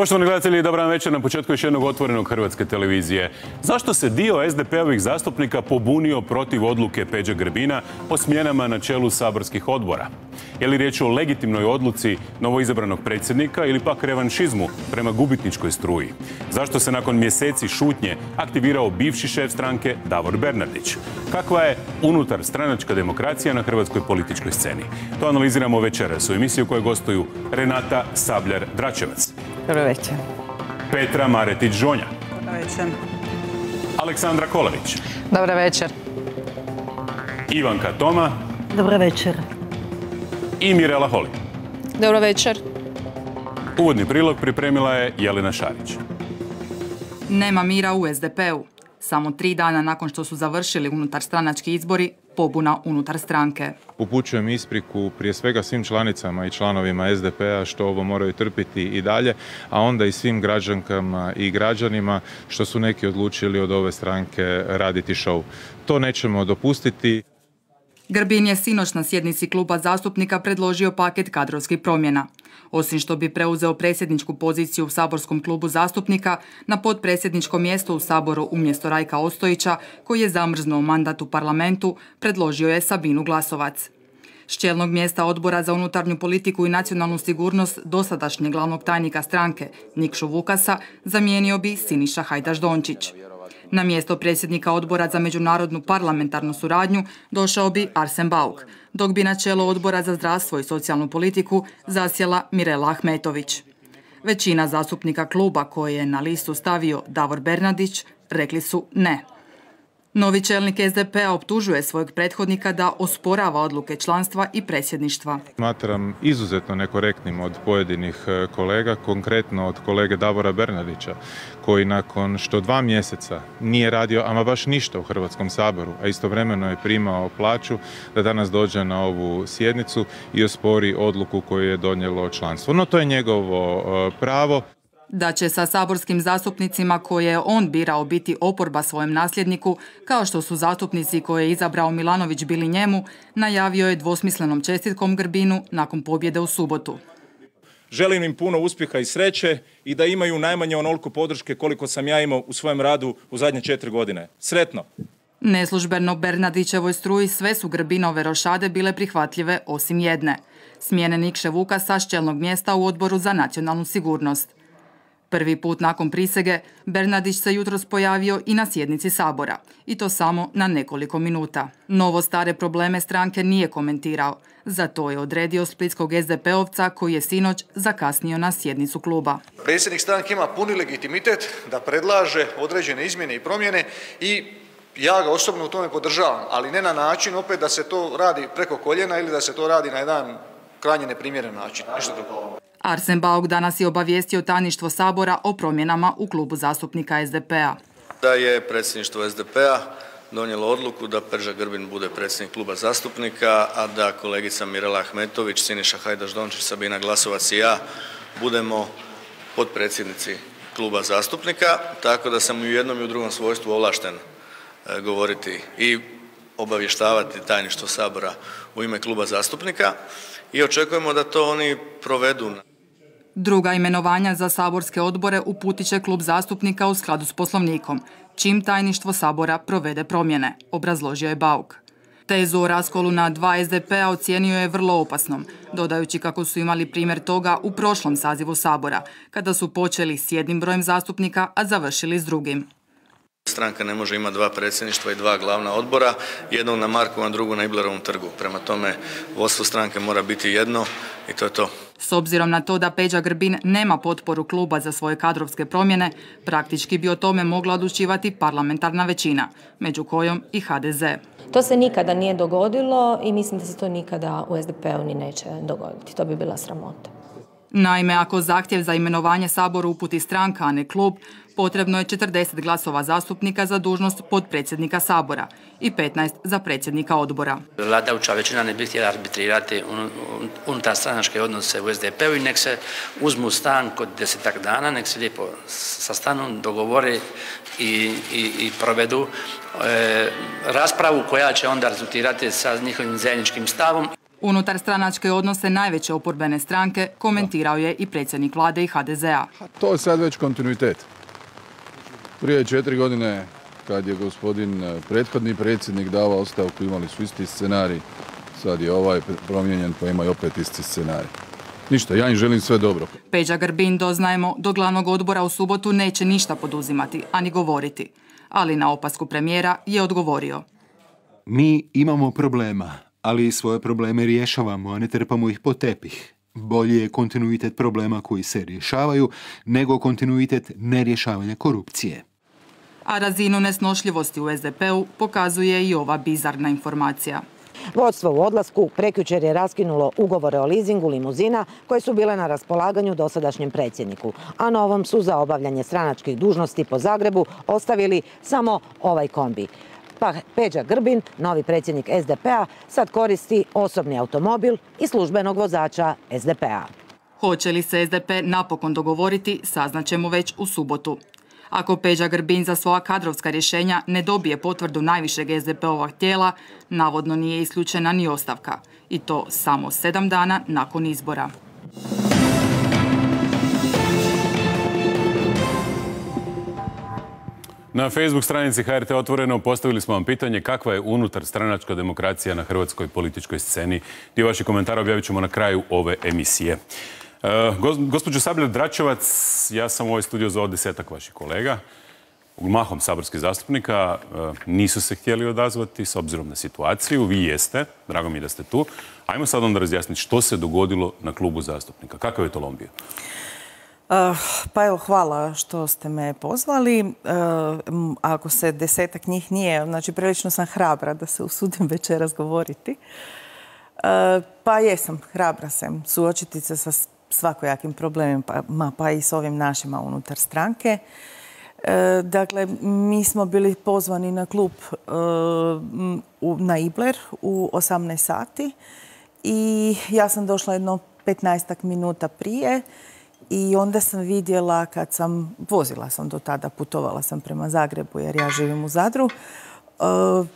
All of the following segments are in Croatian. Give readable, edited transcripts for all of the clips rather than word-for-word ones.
Poštovani gledatelji, dobar večer na početku još jednog otvorenog Hrvatske televizije. Zašto se dio SDP-ovih zastupnika pobunio protiv odluke Peđe Grbina o smjenama na čelu saborskih odbora? Je li riječ o legitimnoj odluci novoizabranog predsjednika ili pak revanšizmu prema gubitničkoj struji? Zašto se nakon mjeseci šutnje aktivirao bivši šef stranke Davor Bernardić? Kakva je unutar stranačka demokracija na hrvatskoj političkoj sceni? To analiziramo večeras u emisiji u kojoj gostuju Renata Sabljar-Dračevac. Dobro večer. Petra Maretić-Žonja. Dobro večer. Aleksandra Kolavić. Dobro večer. Ivanka Toma. Dobro večer. I Mirela Holy. Dobro večer. Uvodni prilog pripremila je Jelena Šarić. Nema mira u SDP-u. Samo 3 dana nakon što su završili unutarstranački izbori, pobuna unutar stranke. Upućujem ispriku prije svega svim članicama i članovima SDP-a što ovo moraju trpiti i dalje, a onda i svim građankama i građanima što su neki odlučili od ove stranke raditi šou. To nećemo dopustiti. Grbin je sinoć na sjednici kluba zastupnika predložio paket kadrovskih promjena. Osim što bi preuzeo predsjedničku poziciju u saborskom klubu zastupnika, na potpredsjedničko mjesto u Saboru umjesto Rajka Ostojića, koji je zamrznuo mandat u parlamentu, predložio je Sabinu Glasovac. S čelnog mjesta Odbora za unutarnju politiku i nacionalnu sigurnost dosadašnjeg glavnog tajnika stranke, Nikšu Vukasa, zamijenio bi Siniša Hajdaš-Dončić. Na mjesto predsjednika Odbora za međunarodnu parlamentarnu suradnju došao bi Arsen Bauk, dok bi na čelo Odbora za zdravstvo i socijalnu politiku zasjela Mirela Ahmetović. Većina zastupnika kluba koje je na listu stavio Davor Bernardić rekli su ne. Novi čelnik SDP-a optužuje svojeg prethodnika da osporava odluke članstva i predsjedništva. Smatram izuzetno nekorektnim od pojedinih kolega, konkretno od kolege Davora Bernardića, koji nakon što 2 mjeseca nije radio ama baš ništa u Hrvatskom saboru, a istovremeno je primao plaću, da danas dođe na ovu sjednicu i ospori odluku koju je donijelo članstvo. No to je njegovo pravo. Da će sa saborskim zastupnicima koje je on birao biti oporba svojem nasljedniku, kao što su zastupnici koje je izabrao Milanović bili njemu, najavio je dvosmislenom čestitkom Grbinu nakon pobjede u subotu. Želim im puno uspjeha i sreće i da imaju najmanje onoliko podrške koliko sam ja imao u svojem radu u zadnje 4 godine. Sretno! Neslužbeno Bernardićevoj struji sve su Grbinove rošade bile prihvatljive osim jedne. Smjene Nikše Vukasa s čelnog mjesta u Odboru za nacionalnu sigurnost. Prvi put nakon prisege, Bernardić se jutros pojavio i na sjednici Sabora, i to samo na nekoliko minuta. Novo stare probleme stranke nije komentirao, zato je odredio splitskog SDP-ovca koji je sinoć zakasnio na sjednicu kluba. Predsjednik stranke ima puni legitimitet da predlaže određene izmjene i promjene i ja ga osobno u tome podržavam, ali ne na način opet da se to radi preko koljena ili da se to radi na jedan krajnje neprimjeren način. Arsen Bauk danas je obavijestio tajništvo Sabora o promjenama u klubu zastupnika SDP-a. Da je predsjedništvo SDP-a donijelo odluku da Peđa Grbin bude predsjednik kluba zastupnika, a da kolegica Mirela Ahmetović, Siniša Hajdaš-Dončić, Sabina Glasovac i ja budemo potpredsjednici kluba zastupnika, tako da sam i u jednom i u drugom svojstvu ovlašten govoriti i obavještavati tajništvo Sabora u ime kluba zastupnika i očekujemo da to oni provedu. Druga imenovanja za saborske odbore uputit će klub zastupnika u skladu s Poslovnikom, čim tajništvo Sabora provede promjene, obrazložio je Bauk. Tezu o raskolu na 2 SDP-a ocijenio je vrlo opasnom, dodajući kako su imali primjer toga u prošlom sazivu Sabora, kada su počeli s jednim brojem zastupnika, a završili s drugim. Stranka ne može imati 2 predsjedništva i 2 glavna odbora, jednog na Markovom, drugog na Iblerovom trgu. Prema tome, vodstvo stranke mora biti jedno i to je to. S obzirom na to da Peđa Grbin nema potporu kluba za svoje kadrovske promjene, praktički bi o tome mogla odlučivati parlamentarna većina, među kojom i HDZ. To se nikada nije dogodilo i mislim da se to nikada u SDP-u ni neće dogoditi. To bi bila sramota. Naime, ako zahtjev za imenovanje Saboru uputi stranka, a ne klub, potrebno je 40 glasova zastupnika za dužnost potpredsjednika Sabora i 15 za predsjednika odbora. Vladajuća većina ne bi htjela arbitrirati unutar stranačke odnose u SDP-u i nek se uzmu stan kod 10-ak dana, nek se lijepo sastanu, dogovore i provedu raspravu koja će onda rezultirati sa njihovim zajedničkim stavom. Unutar stranačke odnose najveće oporbene stranke komentirao je i predsjednik vlade i HDZ-a. To je sad već kontinuitet. Prije 4 godine, kad je gospodin prethodni predsjednik davao ostavku, imali su isti scenarij. Sad je ovaj promijenjen, pa imaju opet isti scenarij. Ništa, ja im želim sve dobro. Peđa Grbin, doznajemo, do glavnog odbora u subotu neće ništa poduzimati, ani govoriti. Ali na opasku premijera je odgovorio. Mi imamo problema, ali svoje probleme rješavamo, a ne trpamo ih pod tepih. Bolje je kontinuitet problema koji se rješavaju, nego kontinuitet nerješavanja korupcije. A razinu nesnošljivosti u SDP-u pokazuje i ova bizarna informacija. Vodstvo u odlasku prekjučer je raskinulo ugovore o lizingu limuzina koje su bile na raspolaganju dosadašnjem predsjedniku, a novom su za obavljanje stranačkih dužnosti po Zagrebu ostavili samo ovaj kombi. Pa Peđa Grbin, novi predsjednik SDP-a, sad koristi osobni automobil i službenog vozača SDP-a. Hoće li se SDP napokon dogovoriti, saznaćemo već u subotu. Ako Peđa Grbin za svoja kadrovska rješenja ne dobije potvrdu najvišeg SDP-ovog tijela, navodno nije isključena ni ostavka. I to samo 7 dana nakon izbora. Na Facebook stranici HRT Otvoreno postavili smo vam pitanje kakva je unutar stranačka demokracija na hrvatskoj političkoj sceni. Dio vaših komentara objavit ćemo na kraju ove emisije. Gospođo Sabljar-Dračevac, ja sam u ovaj studio zvao 10-ak vaših kolega, mahom saborskih zastupnika, nisu se htjeli odazvati s obzirom na situaciju. Vi jeste, drago mi je da ste tu. Ajmo sad onda razjasniti što se dogodilo na klubu zastupnika. Kakav je to lom bio? Pa evo, hvala što ste me pozvali. Ako se 10-ak njih nije, znači prilično sam hrabra da se usudim večeras govoriti. Pa jesam, hrabra sam suočiti se sa svakojakim problemima, pa i s ovim našima unutar stranke. Dakle, mi smo bili pozvani na klub na Ibler u 18 sati i ja sam došla jedno 15 minuta prije i onda sam vidjela vozila sam do tada, putovala sam prema Zagrebu jer ja živim u Zadru,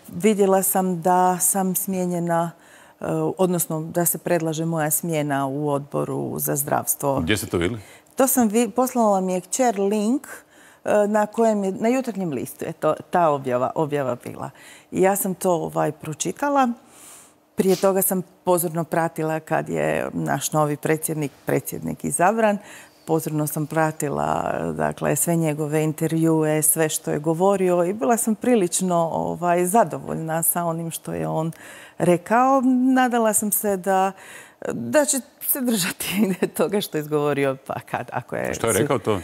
vidjela sam da sam smijenjena, odnosno da se predlaže moja smjena u odboru za zdravstvo. Gdje ste to vidjeli? To sam poslala mi je kćer link na kojem je, na Jutarnjem listu je ta objava bila. I ja sam to pročitala. Prije toga sam pozorno pratila kad je naš novi predsjednik izabran. Pozorno sam pratila sve njegove intervjue, sve što je govorio i bila sam prilično zadovoljna sa onim što je on rekao. Nadala sam se da će se držati toga što je izgovorio. Što je rekao to?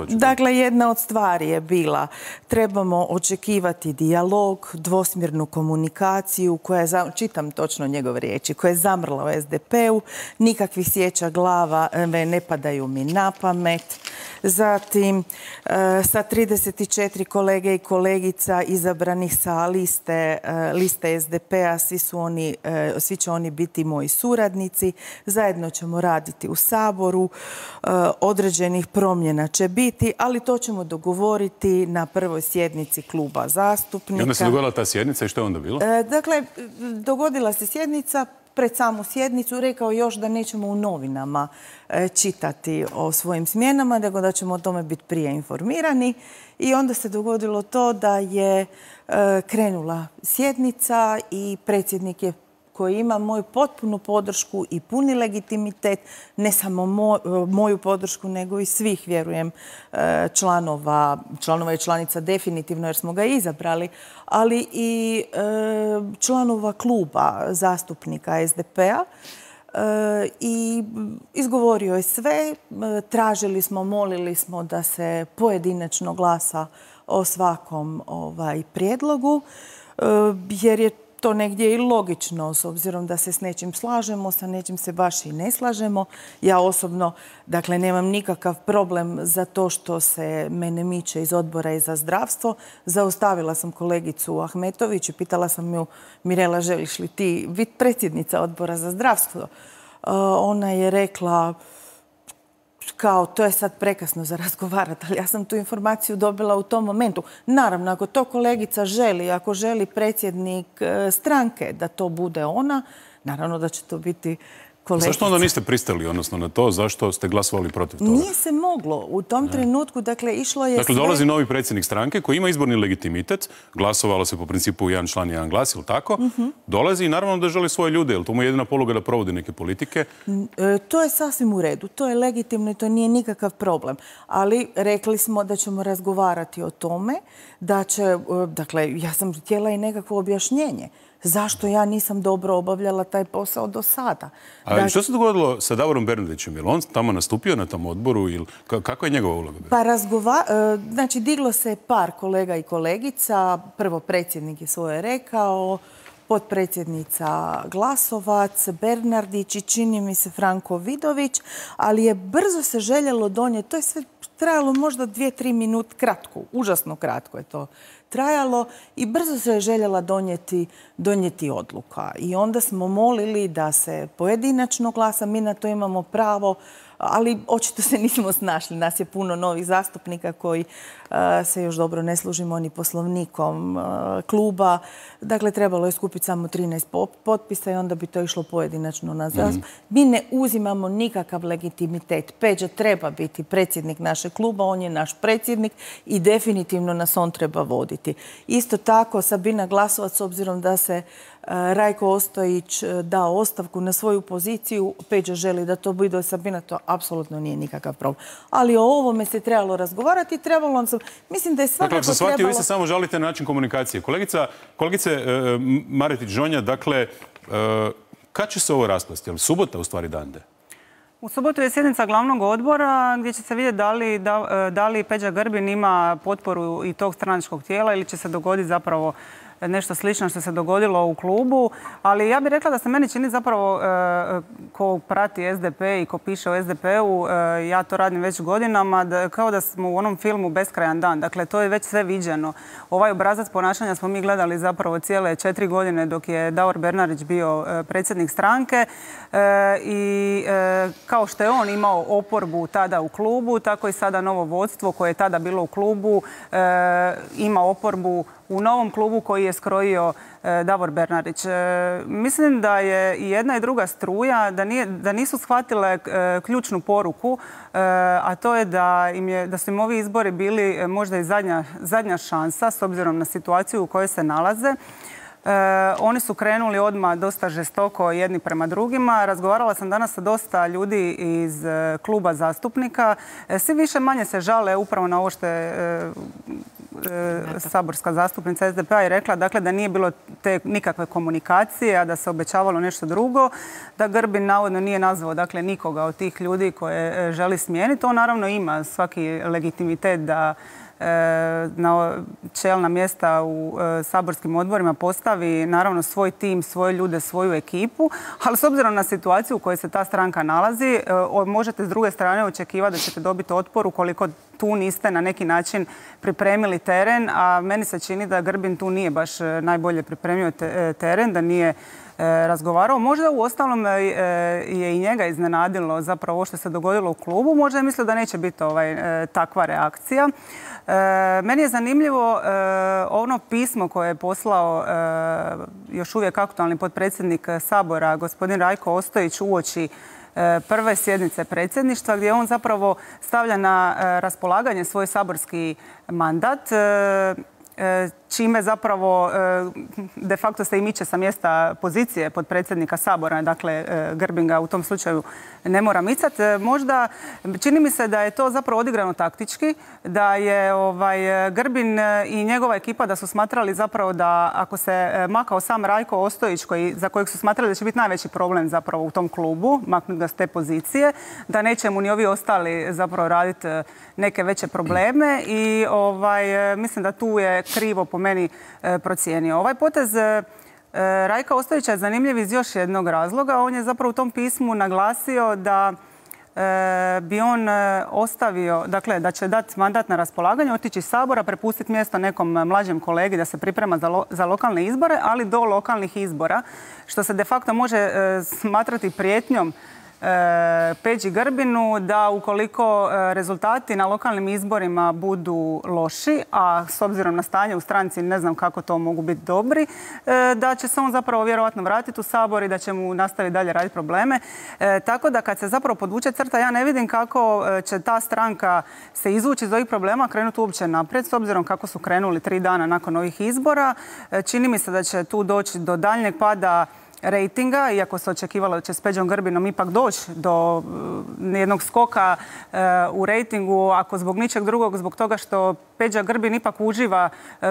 Dakle, jedna od stvari je bila trebamo očekivati dijalog, dvosmjernu komunikaciju koja je, čitam točno njegove riječi, koja je zamrla u SDP-u, nikakvih sjeća glava ne padaju mi na pamet. Zatim, sa 34 kolege i kolegica izabranih sa liste SDP-a, svi će oni biti moji suradnici. Zajedno ćemo raditi u Saboru, određenih promjena će biti, ali to ćemo dogovoriti na prvoj sjednici kluba zastupnika. I onda se dogodila ta sjednica i što je onda bilo? Dakle, dogodila se sjednica. Pred samu sjednicu rekao još da nećemo u novinama čitati o svojim smjenama, nego da ćemo o tome biti prije informirani. I onda se dogodilo to da je krenula sjednica i predsjednik je koji ima moju potpunu podršku i puni legitimitet, ne samo moju podršku, nego i svih, vjerujem, članova i članica definitivno jer smo ga izabrali, ali i članova kluba zastupnika SDP-a. I izgovorio je sve, tražili smo, molili smo da se pojedinačno glasa o svakom prijedlogu, jer je to negdje i logično, s obzirom da se s nečim slažemo, sa nečim se baš i ne slažemo. Ja osobno, dakle, nemam nikakav problem za to što se mene miče iz odbora i za zdravstvo. Zaustavila sam kolegicu Ahmetović i pitala sam ju, Mirela, želiš li ti biti predsjednica odbora za zdravstvo? Ona je rekla, kao to je sad prekasno za razgovarati, ali ja sam tu informaciju dobila u tom momentu. Naravno, ako to kolegica želi, ako želi predsjednik stranke da to bude ona, Naravno da će to biti kolegica. Zašto onda niste pristali, odnosno na to, zašto ste glasovali protiv toga? Nije se moglo. U tom trenutku, dakle, išlo je Dakle, dolazi novi predsjednik stranke koji ima izborni legitimitet, glasovalo se po principu jedan član, jedan glas, ili tako? Dolazi i naravno da želi svoje ljude, jer to mu je jedina poluga da provodi neke politike. To je sasvim u redu. To je legitimno i to nije nikakav problem. Ali rekli smo da ćemo razgovarati o tome, da će, dakle, ja sam htjela i nekakvo objašnjenje. Zašto ja nisam dobro obavljala taj posao do sada? A što se dogodilo sa Davorom Bernardićem? Je li on tamo nastupio na tom odboru ili kako je njegova uloga bila? Pa znači, diglo se par kolega i kolegica. Prvo predsjednik je svoje rekao, potpredsjednica Glasovac, Bernardić i čini mi se Franko Vidović, ali je brzo se željelo donijeti. To je sve trajalo možda 2-3 minute, kratko, užasno kratko je to trajalo i brzo se je željela donijeti odluka. I onda smo molili da se pojedinačno glasa, mi na to imamo pravo, ali očito se nismo snašli. Nas je puno novih zastupnika koji se još dobro ne služimo ni poslovnikom kluba. Dakle, trebalo je skupiti samo 13 potpisa i onda bi to išlo pojedinačno na zastup. Mi ne uzimamo nikakav legitimitet. Peđa treba biti predsjednik našeg kluba, on je naš predsjednik i definitivno nas on treba voditi. Isto tako, Sabina Glasovac, s obzirom da se Rajko Ostojić dao ostavku na svoju poziciju, Peđa želi da to bude Sabina, to apsolutno nije nikakav problem. Ali o ovome se trebalo razgovarati i trebalo nam se... Mislim da je svakako trebalo... Dakle, ako sam shvatio, vi se samo žalite na način komunikacije. Kolegice Maretić-Žonja, dakle, kad će se ovo raspasti? Je li subota u stvari dan D? U subotu je sjednica glavnog odbora gdje će se vidjeti da li Peđa Grbin ima potporu i tog stranačkog tijela ili će se dogoditi zapravo nešto slično što se dogodilo u klubu, ali ja bih rekla da se meni čini zapravo ko prati SDP i ko piše o SDP-u, ja to radim već godinama, kao da smo u onom filmu Beskrajan dan. Dakle, to je već sve viđeno. Ovaj obrazac ponašanja smo mi gledali zapravo cijele 4 godine dok je Davor Bernardić bio predsjednik stranke i kao što je on imao oporbu tada u klubu, tako i sada novo vodstvo koje je tada bilo u klubu ima oporbu u novom klubu koji je skrojio Davor Bernardić. Mislim da je i jedna i druga struja da nisu shvatile ključnu poruku, a to je da su im ovi izbori bili možda i zadnja šansa s obzirom na situaciju u kojoj se nalaze. Oni su krenuli odmah dosta žestoko jedni prema drugima. Razgovarala sam danas sa dosta ljudi iz kluba zastupnika. Svi više manje se žale upravo na ovo što je saborska zastupnica SDP-a je rekla, dakle, da nije bilo te nikakve komunikacije, a da se obećavalo nešto drugo, da Grbin navodno nije nazvao, dakle, nikoga od tih ljudi koje želi smijeniti. On naravno ima svaki legitimitet da na čelna mjesta u saborskim odborima postavi naravno svoj tim, svoje ljude, svoju ekipu, ali s obzirom na situaciju u kojoj se ta stranka nalazi, možete s druge strane očekivati da ćete dobiti otpor ukoliko tu niste na neki način pripremili teren, a meni se čini da Grbin tu nije baš najbolje pripremio teren, da nije razgovarao. Možda u ostalom je i njega iznenadilo zapravo ovo što se dogodilo u klubu. Možda je mislio da neće biti takva reakcija. Meni je zanimljivo ono pismo koje je poslao još uvijek aktualni potpredsjednik Sabora, gospodin Rajko Ostojić, uoči prve sjednice predsjedništva, gdje on zapravo stavlja na raspolaganje svoj saborski mandat, čime zapravo de facto se i miče sa mjesta pozicije potpredsjednika Sabora. Dakle, Grbin ga u tom slučaju ne mora micati. Možda čini mi se da je to zapravo odigrano taktički, da je Grbin i njegova ekipa da su smatrali zapravo da ako se makao sam Rajko Ostojić, za kojeg su smatrali da će biti najveći problem zapravo u tom klubu, maknuti ga s te pozicije, da neće mu ni ovi ostali zapravo raditi neke veće probleme i mislim da tu je krivo po meni procijenio. Ovaj potez Rajka Ostojića je zanimljiv iz još jednog razloga. On je zapravo u tom pismu naglasio da bi on ostavio, dakle, da će dati mandat na raspolaganje, otići iz Sabora, prepustiti mjesto nekom mlađem kolegi da se priprema za lokalne izbore, ali do lokalnih izbora, što se de facto može smatrati prijetnjom Peđi Grbinu da ukoliko rezultati na lokalnim izborima budu loši, a s obzirom na stanje u stranci ne znam kako to mogu biti dobri, da će se on zapravo vjerojatno vratiti u Sabor i da će mu nastaviti dalje raditi probleme. Tako da kad se zapravo podvuče crta, ja ne vidim kako će ta stranka se izvući iz ovih problema, krenuti uopće naprijed, s obzirom kako su krenuli 3 dana nakon ovih izbora. Čini mi se da će tu doći do daljnjeg pada rejtinga, iako se očekivalo da će s Peđom Grbinom ipak doći do jednog skoka u rejtingu, ako zbog ničeg drugog, zbog toga što Peđa Grbin ipak uživa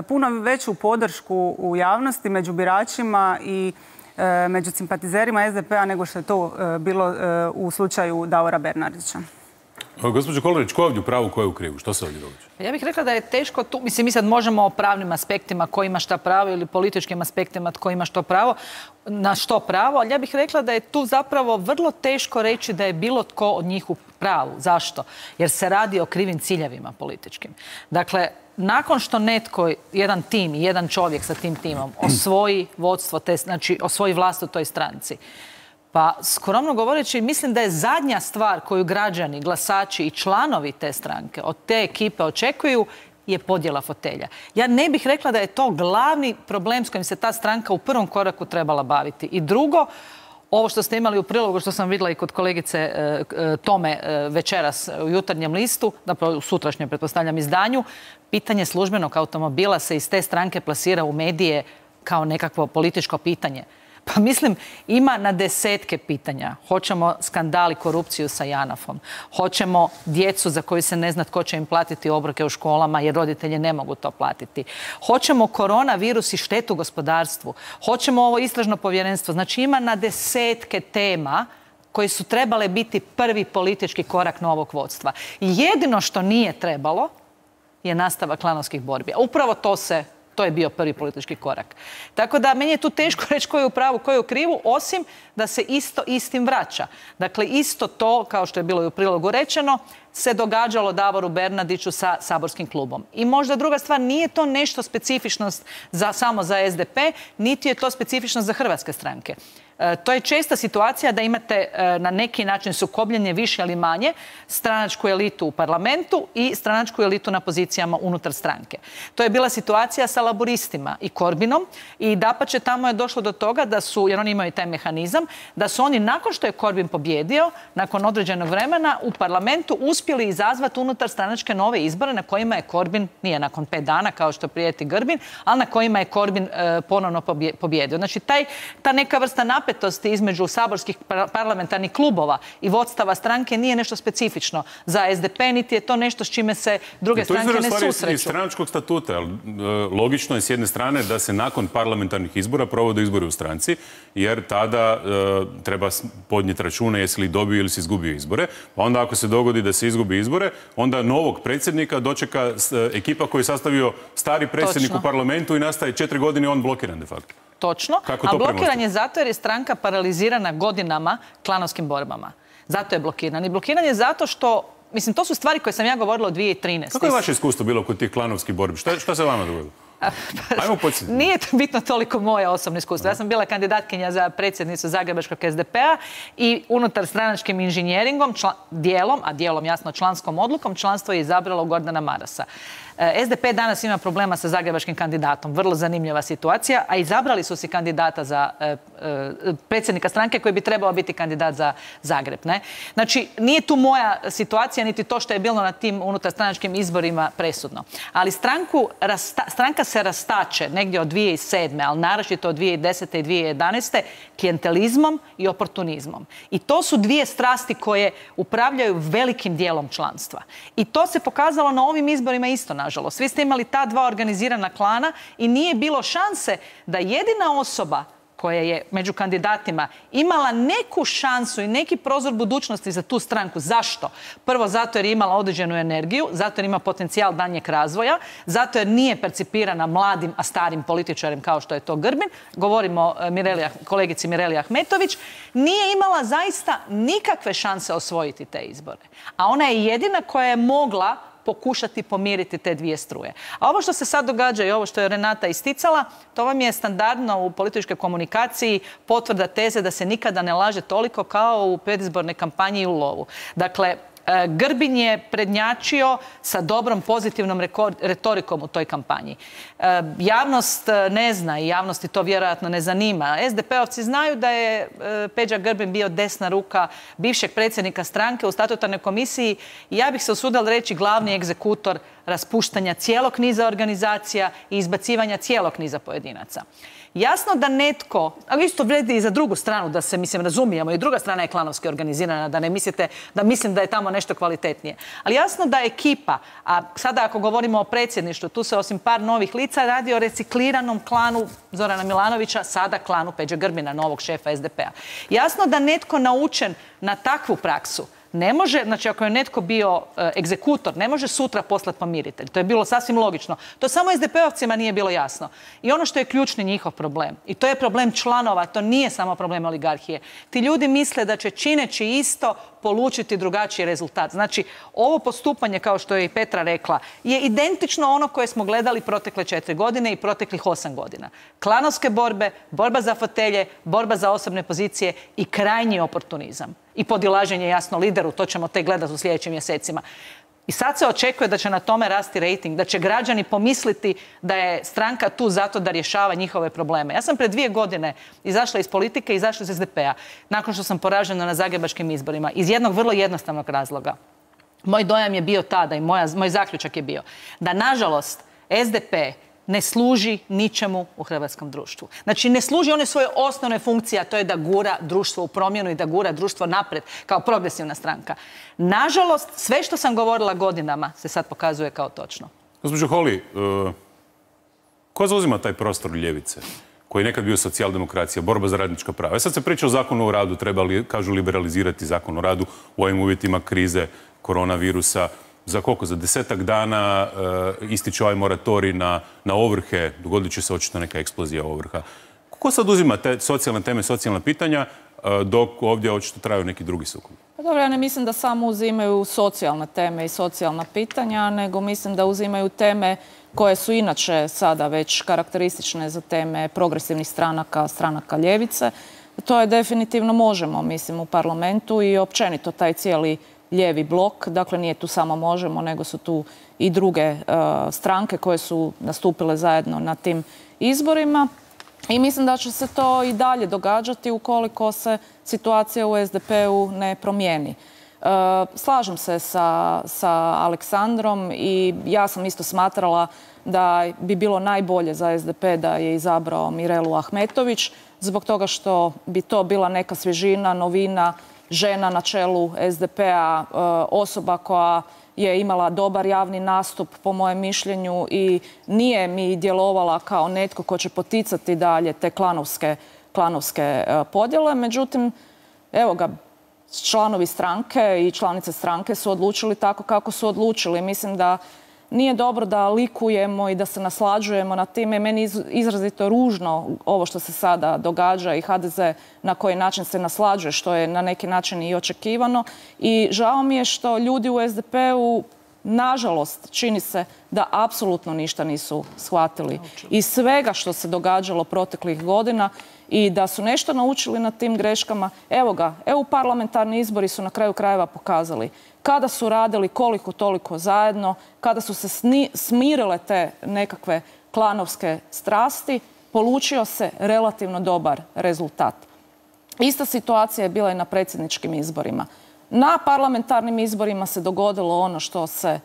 puno veću podršku u javnosti, među biračima i među simpatizerima SDP-a nego što je to bilo u slučaju Davora Bernardića. Gospođo Kolarić, ko je ovdje u pravu, ko je u krivu? Što se ovdje događa? Ja bih rekla da je teško tu, mislim, mi sad možemo o pravnim aspektima ko ima šta pravo ili političkim aspektima tko ima što pravo, na što pravo, ali ja bih rekla da je tu zapravo vrlo teško reći da je bilo tko od njih u pravu. Zašto? Jer se radi o krivim ciljevima političkim. Dakle, nakon što netko, jedan tim i jedan čovjek sa tim timom osvoji vodstvo, znači osvoji vlast u toj stranci, pa skromno govoreći, mislim da je zadnja stvar koju građani, glasači i članovi te stranke od te ekipe očekuju je podjela fotelja. Ja ne bih rekla da je to glavni problem s kojim se ta stranka u prvom koraku trebala baviti. I drugo, ovo što ste imali u prilogu, što sam vidjela i kod kolegice Tome večeras u Jutarnjem listu, zapravo u sutrašnjem, pretpostavljam, izdanju, pitanje službenog automobila se iz te stranke plasira u medije kao nekakvo političko pitanje. Pa mislim, ima na desetke pitanja. Hoćemo skandal i korupciju sa JANAF-om. Hoćemo djecu za koju se ne zna tko će im platiti obroke u školama jer roditelji ne mogu to platiti. Hoćemo koronavirus i štetu gospodarstvu. Hoćemo ovo istražno povjerenstvo. Znači ima na desetke tema koji su trebale biti prvi politički korak novog vodstva. I jedino što nije trebalo je nastavak klanovskih borbi. A upravo to je bio prvi politički korak. Tako da meni je tu teško reći ko je u pravu, ko je u krivu, osim da se isto istim vraća. Dakle, isto to, kao što je bilo i u prilogu rečeno, se događalo Davoru Bernardiću sa saborskim klubom. I možda druga stvar, nije to nešto specifičnost samo za SDP, niti je to specifičnost za hrvatske stranke. To je česta situacija da imate na neki način sukobljenje više ili manje stranačku elitu u parlamentu i stranačku elitu na pozicijama unutar stranke. To je bila situacija sa laburistima i Korbinom i dapače tamo je došlo do toga da su, jer oni imaju taj mehanizam, da su oni nakon što je Korbin pobjedio, nakon određenog vremena u parlamentu uspjeli izazvati unutar stranačke nove izbore na kojima je Korbin, nije nakon 5 dana kao što prijeti Grbin, ali na kojima je Korbin ponovno pobjedio. Znači ta neka vrsta napetosti između saborskih parlamentarnih klubova i vodstava stranke nije nešto specifično za SDP, niti je to nešto s čime se druge stranke ne susreću. To izgleda iz stranačkog statuta. Logično je s jedne strane da se nakon parlamentarnih izbora provode izbori u stranci, jer tada treba podnijeti račune jesi li dobio ili si izgubio izbore. Pa onda ako se dogodi da se izgubi izbore, onda novog predsjednika dočeka ekipa koju je sastavio stari predsjednik u parlamentu i nastaje 4 godine on blokiran de facto. Točno, a blokiran je zato jer je stranka paralizirana godinama klanovskim borbama. Zato je blokiran. I blokiran je zato što, mislim, to su stvari koje sam ja govorila od 2013. Kako je vaše iskustvo bilo kod tih klanovskih borbi? Šta se vama dogodilo? Nije to bitno toliko moje osobno iskustvo. Ja sam bila kandidatkinja za predsjednicu Zagrebačkog SDP-a i unutar stranačkim inženjeringom, dijelom jasno članskom odlukom, članstvo je izabralo Gordana Marasa. SDP danas ima problema sa zagrebačkim kandidatom. Vrlo zanimljiva situacija, a izabrali su si kandidata za predsjednika stranke koji bi trebao biti kandidat za Zagreb. Ne? Znači, nije tu moja situacija, niti to što je bilo na tim unutar stranačkim izborima presudno. Ali stranka se rastače negdje od 2007. ali naročito od 2010. i 2011. klijentelizmom i oportunizmom. I to su dvije strasti koje upravljaju velikim dijelom članstva. I to se pokazalo na ovim izborima isto, nažalost. Svi ste imali ta dva organizirana klana i nije bilo šanse da jedina osoba koja je među kandidatima imala neku šansu i neki prozor budućnosti za tu stranku. Zašto? Prvo, zato jer je imala određenu energiju, zato jer ima potencijal daljnjeg razvoja, zato jer nije percipirana mladim, a starim političarem kao što je to Grbin. Govorimo o kolegici Mireli Ahmetović. Nije imala zaista nikakve šanse osvojiti te izbore. A ona je jedina koja je mogla pokušati pomiriti te dvije struje. A ovo što se sad događa i ovo što je Renata isticala, to vam je standardno u političkoj komunikaciji potvrda teze da se nikada ne laže toliko kao u predizbornoj kampanji i u lovu. Dakle, Grbin je prednjačio sa dobrom pozitivnom retorikom u toj kampanji. Javnost ne zna i javnosti to vjerojatno ne zanima. SDP-ovci znaju da je Peđa Grbin bio desna ruka bivšeg predsjednika stranke u statutarnoj komisiji i ja bih se usudila reći glavni egzekutor raspuštanja cijelog niza organizacija i izbacivanja cijelog niza pojedinaca. Jasno da netko, a isto vrijedi i za drugu stranu, da se, razumijemo, i druga strana je klanovski organizirana, da ne mislite da mislim da je tamo nešto kvalitetnije. Ali jasno da ekipa, a sada ako govorimo o predsjedništvu, tu se osim par novih lica radi o recikliranom klanu Zorana Milanovića, sada klanu Peđe Grbina, novog šefa SDP-a. Jasno da netko naučen na takvu praksu ne može, znači ako je netko bio egzekutor, ne može sutra poslati pomiritelj. To je bilo sasvim logično. To samo SDP-ovcima nije bilo jasno. I ono što je ključni njihov problem, i to je problem članova, to nije samo problem oligarhije. Ti ljudi misle da će čineći isto polučiti drugačiji rezultat. Znači, ovo postupanje, kao što je i Petra rekla, je identično ono koje smo gledali protekle 4 godine i proteklih 8 godina. Klanovske borbe, borba za fotelje, borba za osobne pozicije i krajnji oportunizam. I podilaženje jasno lideru, to ćemo tek gledati u sljedećim mjesecima. I sad se očekuje da će na tome rasti rejting, da će građani pomisliti da je stranka tu zato da rješava njihove probleme. Ja sam pred 2 godine izašla iz politike i izašla iz SDP-a, nakon što sam poražena na zagrebačkim izborima, iz jednog vrlo jednostavnog razloga. Moj dojam je bio tada i moj zaključak je bio da, nažalost, SDP ne služi ničemu u hrvatskom društvu. Znači, ne služi one svoje osnovne funkcije, a to je da gura društvo u promjenu i da gura društvo napred kao progresivna stranka. Nažalost, sve što sam govorila godinama se sad pokazuje kao točno. Gospođo Holy, ko zauzima taj prostor ljevice, koji je nekad bio socijaldemokracija, borba za radnička prava? Sad se priča o zakonu o radu, treba li, kažu, liberalizirati zakon o radu u ovim uvjetima krize koronavirusa. Za koliko? Za 10-ak dana ističe ovaj moratorij na ovrhe, dogodit će se očito neka eksplozija ovrha. Ko sad uzima te socijalne teme, socijalna pitanja, dok ovdje očito traju neki drugi sukobi? Pa dobro, ja ne mislim da samo uzimaju socijalne teme i socijalna pitanja, nego mislim da uzimaju teme koje su inače sada već karakteristične za teme progresivnih stranaka, stranaka ljevice. To je definitivno Možemo, mislim, u parlamentu i općenito taj cijeli lijevi blok. Dakle, nije tu samo Možemo, nego su tu i druge stranke koje su nastupile zajedno na tim izborima. I mislim da će se to i dalje događati ukoliko se situacija u SDP-u ne promijeni. Slažem se sa Aleksandrom i ja sam isto smatrala da bi bilo najbolje za SDP da je izabrao Mirelu Ahmetović, zbog toga što bi to bila neka svježina, novina, žena na čelu SDP-a, osoba koja je imala dobar javni nastup, po mojem mišljenju, i nije mi djelovala kao netko ko će poticati dalje te klanovske podjele. Međutim, evo ga, članovi stranke i članice stranke su odlučili tako kako su odlučili. Mislim da nije dobro da likujemo i da se naslađujemo na time. Meni je izrazito ružno ovo što se sada događa i HDZ na koji način se naslađuje, što je na neki način i očekivano. I žao mi je što ljudi u SDP-u, nažalost, čini se da apsolutno ništa nisu shvatili iz svega što se događalo proteklih godina i da su nešto naučili na tim greškama. Evo ga, EU parlamentarni izbori su na kraju krajeva pokazali kada su radili koliko toliko zajedno, kada su se smirile te nekakve klanovske strasti, polučio se relativno dobar rezultat. Ista situacija je bila i na predsjedničkim izborima. Na parlamentarnim izborima se dogodilo ono što se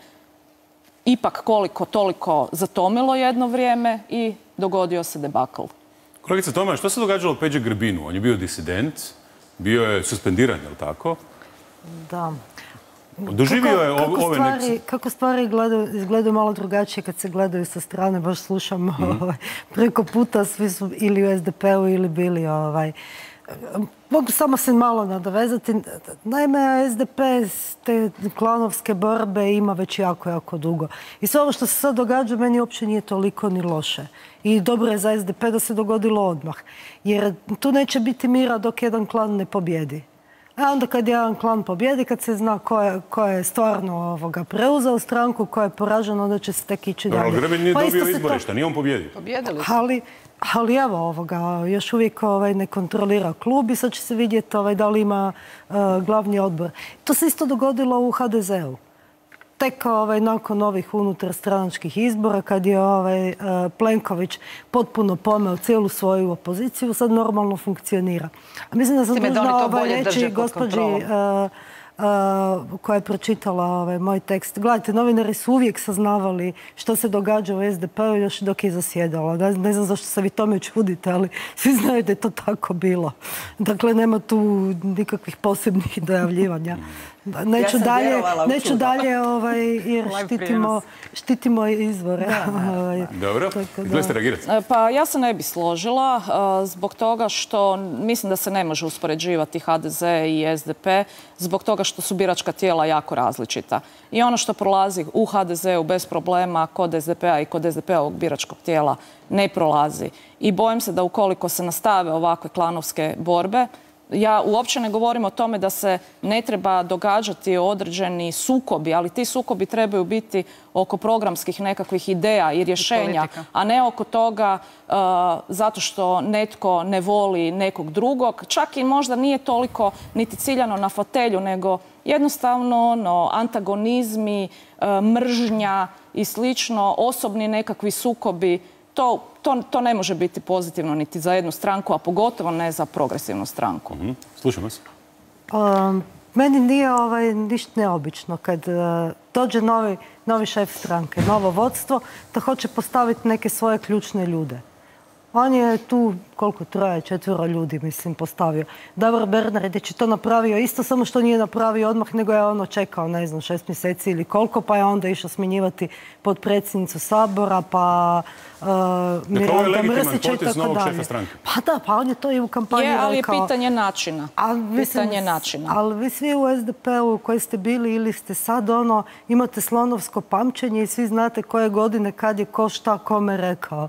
ipak koliko toliko zatomilo jedno vrijeme i dogodio se debakl. Kolegica Toma, što se događalo Peđi Grbinu? On je bio disident, bio je suspendiran, je li tako? Da. Doživio je ove neke... Kako stvari izgledaju malo drugačije kad se gledaju sa strane, baš slušam preko puta, svi su ili u SDP-u ili bili mogu samo se malo nadovezati. Naime, SDP te klanovske borbe ima već jako, jako dugo. I sve ovo što se sad događa meni uopće nije toliko ni loše. I dobro je za SDP da se dogodilo odmah. Jer tu neće biti mira dok jedan klan ne pobjedi. A onda kad jedan klan pobjedi, kad se zna ko je stvarno preuzeo stranku, ko je poražen, onda će se tek ići dalje. Ali Grbin nije dobio izbore, šta nije on pobjedio? Pobjedili su. Ali evo, još uvijek ne kontrolira klub i sad će se vidjeti da li ima glavni odbor. To se isto dogodilo u HDZ-u. Tek nakon ovih unutarstranačkih izbora, kad je Plenković potpuno pomeo cijelu svoju opoziciju, sad normalno funkcionira. A mislim da sam dužna reći gospođi koja je pročitala moj tekst. Gledajte, novinari su uvijek saznavali što se događa u SDP-u još dok je zasjedala. Ne znam zašto se vi tome čudite, ali svi znaju da je to tako bilo. Dakle, nema tu nikakvih posebnih dojavljivanja. Neću dalje jer štitimo izvore. Dobro, gdje ste reagirati? Pa ja se ne bi složila zbog toga što mislim da se ne može uspoređivati HDZ i SDP zbog toga što su biračka tijela jako različita. I ono što prolazi u HDZ-u bez problema kod SDP-a i kod SDP-ovog biračkog tijela ne prolazi. I bojim se da ukoliko se nastave ovakve klanovske borbe, ja uopće ne govorim o tome da se ne treba događati određeni sukobi, ali ti sukobi trebaju biti oko programskih nekakvih ideja i rješenja, a ne oko toga zato što netko ne voli nekog drugog. Čak i možda nije toliko niti ciljano na fotelju, nego jednostavno antagonizmi, mržnja i slično, osobni nekakvi sukobi. To ne može biti pozitivno niti za jednu stranku, a pogotovo ne za progresivnu stranku. Slušam vas. Meni nije ništa neobično kad dođe novi šef stranke, novo vodstvo, da hoće postaviti neke svoje ključne ljude. On je tu, koliko, 3-4 ljudi, mislim, postavio. Davor Bernardić je to napravio isto, samo što nije napravio odmah, nego je čekao, 6 mjeseci ili koliko, pa je onda išao smjenjivati potpredsjednicu Sabora, pa Miranda Mrsića i tako dalje. Pa da, pa on je to i u kampanji rekao. Ali je pitanje načina. Ali vi svi u SDP-u koji ste bili ili ste sad imate slonovsko pamćenje i svi znate koje godine kad je ko šta kome rekao.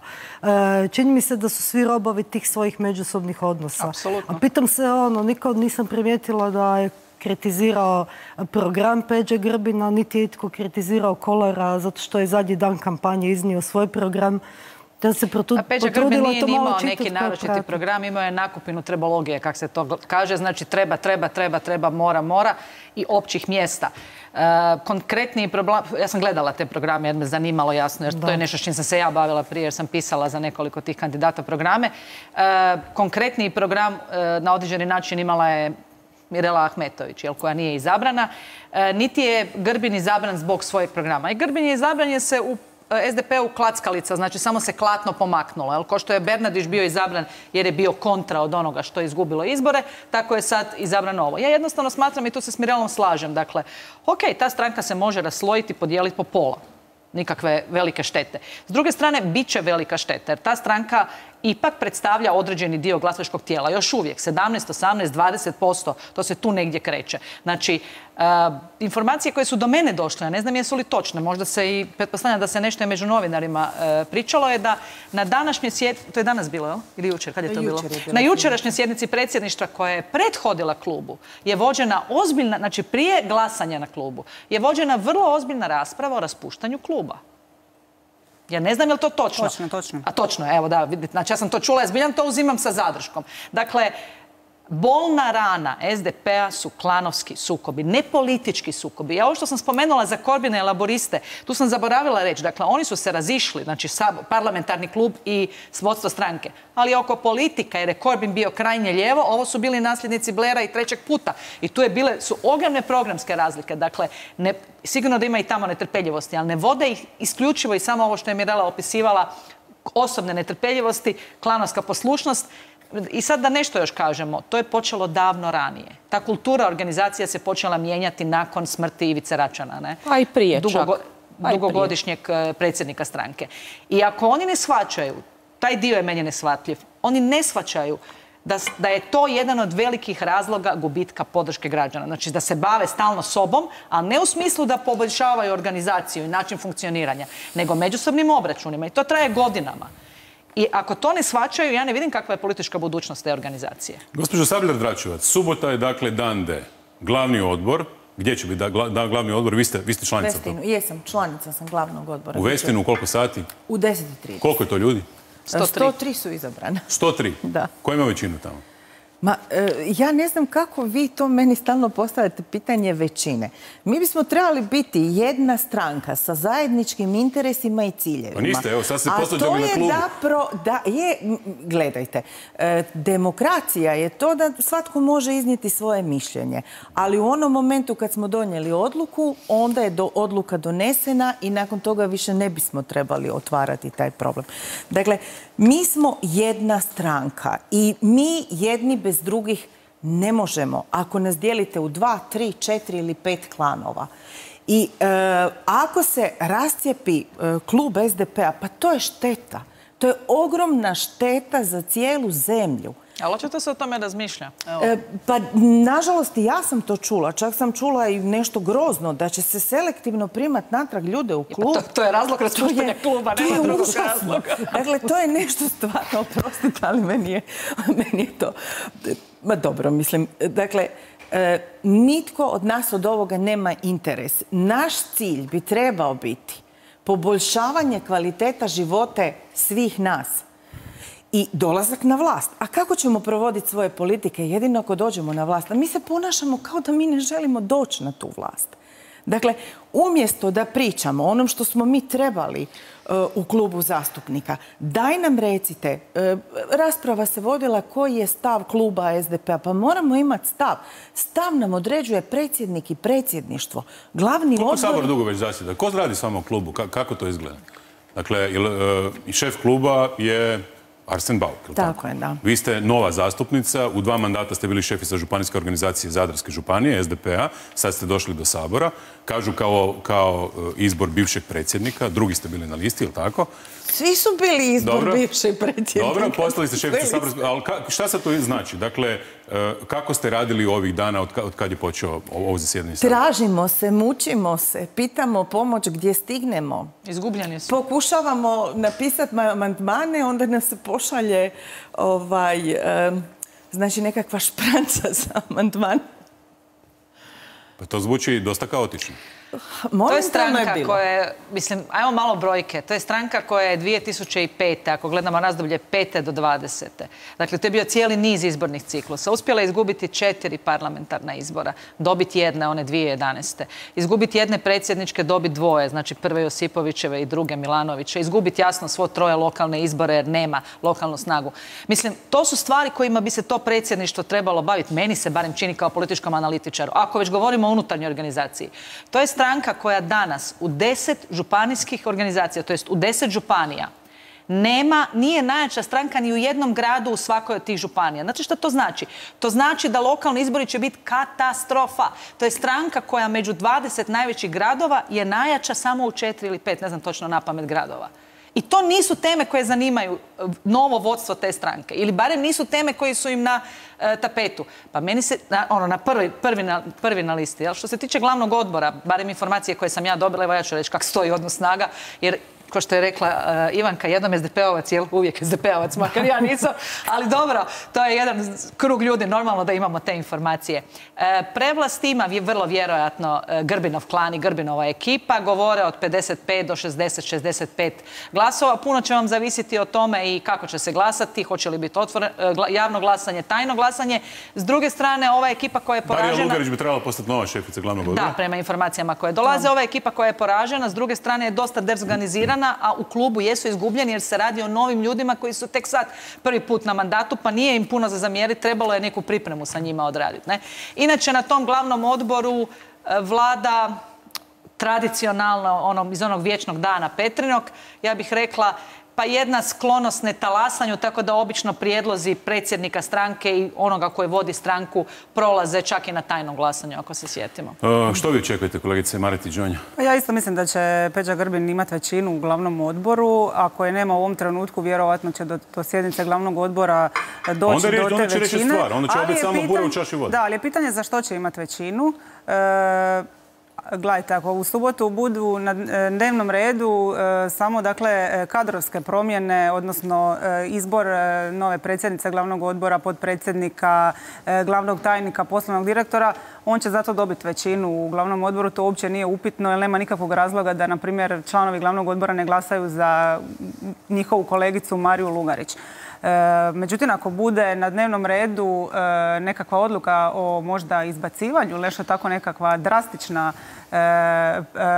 Čini mi se da su svi robovi tih svojih međusobnih odnosa. Apsolutno. A pitam se nikad nisam primijetila da je kritizirao program Peđe Grbina, niti je itko kritizirao Kolera zato što je zadnji dan kampanje iznio svoj program. A Peđa Grbin nije imao neki naročiti program, imao je nakupinu trebologije, kako se to kaže, znači treba, mora i općih mjesta. Konkretni problem, ja sam gledala te programe jer me zanimalo jasno, jer to je nešto s čim sam se ja bavila prije jer sam pisala za nekoliko tih kandidata programe. Konkretni program na određeni način imala je Mirela Ahmetović, koja nije izabrana, niti je Grbin izabran zbog svojeg programa. I Grbin je izabran jer se u SDP-u klackalica, znači samo se klatno pomaknulo. Ko što je Bernardić bio izabran jer je bio kontra od onoga što je izgubilo izbore, tako je sad izabrano ovo. Ja jednostavno smatram i tu se s Mirelom slažem. Dakle, ta stranka se može raslojiti, podijeliti po pola. Nikakve velike štete. S druge strane, bit će velika šteta jer ta stranka ipak predstavlja određeni dio glasačkog tijela. Još uvijek, 17, 18, 20%, to se tu negdje kreće. Znači, informacije koje su do mene došle, ja ne znam jesu li točne, možda se i pretpostavljam da se nešto je među novinarima pričalo, je da na današnjoj sjednici, to je danas bilo, ili jučer, kad je to bilo? Na jučerašnjoj sjednici predsjedništva koja je prethodila klubu, je vođena ozbiljna, znači prije glasanja na klubu, je vođena vrlo ozbiljna rasprava o raspuštanju kluba. Ja ne znam je li to točno. Točno. A točno, evo da, vidite, znači ja sam to čula, ja zbiljam to uzimam sa zadrškom. Dakle, bolna rana SDP-a su klanovski sukobi, ne politički sukobi. Ja ovo što sam spomenula za Korbina i Laboriste, tu sam zaboravila reći, dakle oni su se razišli, znači parlamentarni klub i vodstvo stranke, ali oko politika, jer je Korbin bio krajnje lijevo, ovo su bili nasljednici Blaira i trećeg puta. I tu su ogromne programske razlike, dakle sigurno da ima i tamo netrpeljivosti, ali ne vode ih isključivo i samo ovo što je Mirela opisivala, osobne netrpeljivosti, klanovska poslušnost. I sad da nešto još kažemo, to je počelo davno ranije. Ta kultura organizacija se počela mijenjati nakon smrti Ivice Račana, ne? A i prije čak. Dugogodišnjeg predsjednika stranke. I ako oni ne shvaćaju, taj dio je meni neshvatljiv, oni ne shvaćaju da je to jedan od velikih razloga gubitka podrške građana. Znači da se bave stalno sobom, a ne u smislu da poboljšavaju organizaciju i način funkcioniranja, nego međusobnim obračunima. I to traje godinama. I ako to ne shvaćaju, ja ne vidim kakva je politička budućnost te organizacije. Gospođo Sabljar-Dračevac, subota je dakle dan D. Glavni odbor. Gdje će biti glavni odbor? Vi ste članica toga. Jesam, članica sam glavnog odbora. U Westinu u koliko sati? U 10:30. Koliko je to ljudi? 103 su izabrane. 103? Da. Ko ima većinu tamo? Ja ne znam kako vi to meni stalno postavljate pitanje većine. Mi bismo trebali biti jedna stranka sa zajedničkim interesima i ciljevima. Pa niste, evo, sad ste postavljali na klubu. Gledajte, demokracija je to da svatko može iznijeti svoje mišljenje. Ali u onom momentu kad smo donijeli odluku, onda je odluka donesena i nakon toga više ne bismo trebali otvarati taj problem. Dakle, mi smo jedna stranka i mi jedni bez drugih ne možemo, ako nas dijelite u 2, 3, 4 ili 5 klanova. I ako se rascijepi klub SDP-a, pa to je šteta. To je ogromna šteta za cijelu zemlju. Ali očito se o tome razmišlja. Pa, nažalost, i ja sam to čula. Čak sam čula i nešto grozno, da će se selektivno primati natrag ljude u klub. To je razlog raspuštanja kluba, nema drugog razloga. Dakle, to je nešto stvarno, oprostite, ali meni je to... Ma dobro, mislim, dakle, nitko od nas od ovoga nema interes. Naš cilj bi trebao biti poboljšavanje kvaliteta života svih nas i dolazak na vlast. A kako ćemo provoditi svoje politike? Jedino ako dođemo na vlast. A mi se ponašamo kao da mi ne želimo doći na tu vlast. Dakle, umjesto da pričamo o onom što smo mi trebali u klubu zastupnika, daj nam recite, rasprava se vodila koji je stav kluba SDP-a, pa moramo imati stav. Stav nam određuje predsjednik i predsjedništvo. Glavni odbor... Koliko Sabor dugo već zasjeda? Ko radi samo u klubu? Kako to izgleda? Dakle, šef kluba je Arsen Bauk. Tako je, da. Vi ste nova zastupnica, u 2 mandata ste bili šefica županijske organizacije Zadarske županije, SDP-a, sad ste došli do Sabora. Kažu kao izbor bivšeg predsjednika, drugi ste bili na listi, ili tako? Svi su bili izbor bivšeg predsjednika. Dobro, postali ste šefica Saborske, ali šta sad to znači? Dakle, kako ste radili ovih dana od kad je počeo ovo zasjedanje? Tražimo se, mučimo se, pitamo pomoć gdje stignemo. Izgubljeni su. Pokušavamo napisati amandmane, onda nas se pošalje znači nekakva špranca za amandman. Pa to zvuči dosta kaotično. To je stranka koja je, mislim, ajmo malo brojke, to je stranka koja je 2005. ako gledamo razdoblje 5. do 20. Dakle, to je bio cijeli niz izbornih ciklusa. Uspjela je izgubiti 4 parlamentarna izbora, dobiti jedne, one 2011. Izgubiti jedne predsjedničke, dobiti 2, znači prve Josipovićeve i druge Milanoviće. Izgubiti jasno svo 3 lokalne izbore jer nema lokalnu snagu. Mislim, to su stvari kojima bi se to predsjedništvo trebalo baviti. Meni se barem čini kao političkom analitičaru. Ako već govorimo o unutarnjoj organizaciji. To je stranka koja danas u 10 županijskih organizacija, to jest u 10 županija, nije najjača stranka ni u jednom gradu u svakoj od tih županija. Znači što to znači? To znači da lokalni izbori će biti katastrofa. To je stranka koja među 20 najvećih gradova je najjača samo u 4 ili 5, ne znam točno napamet gradova. I to nisu teme koje zanimaju novo vodstvo te stranke. Ili barem nisu teme koje su im na tapetu. Pa meni se, prvi na listi. Što se tiče glavnog odbora, barem informacije koje sam ja dobila, evo ja ću reći kako stoji odnos snaga, jer kao što je rekla Ivanka, jednom SDP-ovac, uvijek SDP-ovac, makar ja nisam, ali dobro, to je jedan krug ljudi, normalno da imamo te informacije. Prevlast ima vrlo vjerojatno Grbinov klan i Grbinova ekipa, govore od 55 do 60-65 glasova. Puno će vam zavisiti o tome i kako će se glasati, hoće li biti javno glasanje, tajno glasanje. S druge strane, ova ekipa koja je poražena... Darija Lugarić bi trebala postati nova šefica glavnog odbora. Da, prema informacijama koje dolaze. Ova ekipa koja je poražena, s druge strane je dosta dezorganizirana, a u klubu jesu izgubljeni jer se radi o novim ljudima koji su tek sad prvi put na mandatu, pa nije im puno za zamjeriti, trebalo je neku pripremu sa njima odraditi. Inače, na tom glavnom odboru vlada tradicionalno iz onog vječnog dana Petrinog, ja bih rekla, pa jedna sklonost netalasanju, tako da obično prijedlozi predsjednika stranke i onoga koji vodi stranku prolaze čak i na tajnom glasanju, ako se sjetimo. Što vi očekujete, kolegice Maretić-Đonja? Ja isto mislim da će Peđa Grbin imati većinu u glavnom odboru. Ako je nema u ovom trenutku, vjerovatno će do sjednice glavnog odbora doći do te većine. Onda će reći stvar, onda će opet samo bura u čaši vode. Da, ali je pitanje za što će imati većinu. Gledajte, ako u subotu budu na dnevnom redu samo dakle kadrovske promjene, odnosno izbor nove predsjednice glavnog odbora, potpredsjednika, glavnog tajnika, poslovnog direktora, on će zato dobiti većinu u glavnom odboru. To uopće nije upitno jer nema nikakvog razloga da, na primjer, članovi glavnog odbora ne glasaju za njihovu kolegicu Mariju Lugarić. Međutim, ako bude na dnevnom redu nekakva odluka o možda izbacivanju, nešto tako nekakva drastična,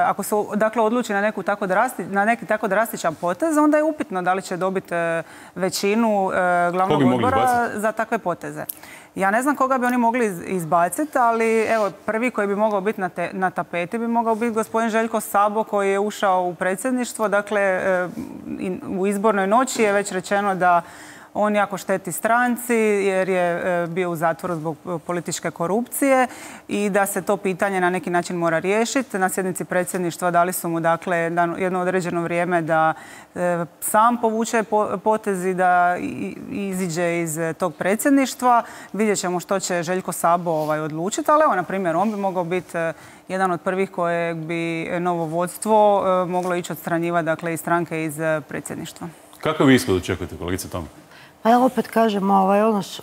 ako se dakle odluči na neki tako drastičan potez, onda je upitno da li će dobiti većinu glavnog odbora za takve poteze. Ja ne znam koga bi oni mogli izbaciti, ali evo, prvi koji bi mogao biti na tapeti bi mogao biti gospodin Željko Sabo koji je ušao u predsjedništvo. Dakle, u izbornoj noći je već rečeno da on jako šteti stranci jer je bio u zatvoru zbog političke korupcije i da se to pitanje na neki način mora riješiti. Na sjednici predsjedništva dali su mu dakle jedno određeno vrijeme da sam povuče potezi, da iziđe iz tog predsjedništva. Vidjet ćemo što će Željko Sabo odlučiti, ali evo, na primjer, on bi mogao biti jedan od prvih kojeg bi novo vodstvo moglo ići odstranjivati dakle iz stranke iz predsjedništva. Kakav ishod očekujete, kolegice Toma? A ja opet kažem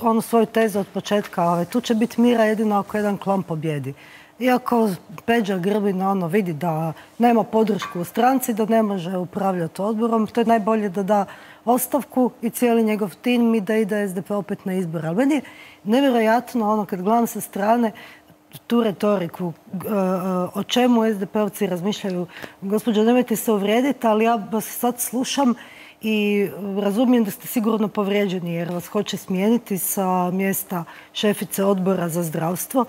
onu svoju tezu od početka. Tu će biti mira jedino ako jedan klan pobjedi. Iako Peđa Grbin vidi da nema podršku u stranci, da ne može upravljati odborom, to je najbolje da da ostavku i cijeli njegov tim i da ide SDP opet na izbor. Ali meni je nevjerojatno kad gledam sa strane tu retoriku, o čemu SDP-ovci razmišljaju. Gospođo, nemojte se uvrijediti, ali ja vas sad slušam i razumijem da ste sigurno povrijeđeni jer vas hoće smijeniti sa mjesta šefice odbora za zdravstvo.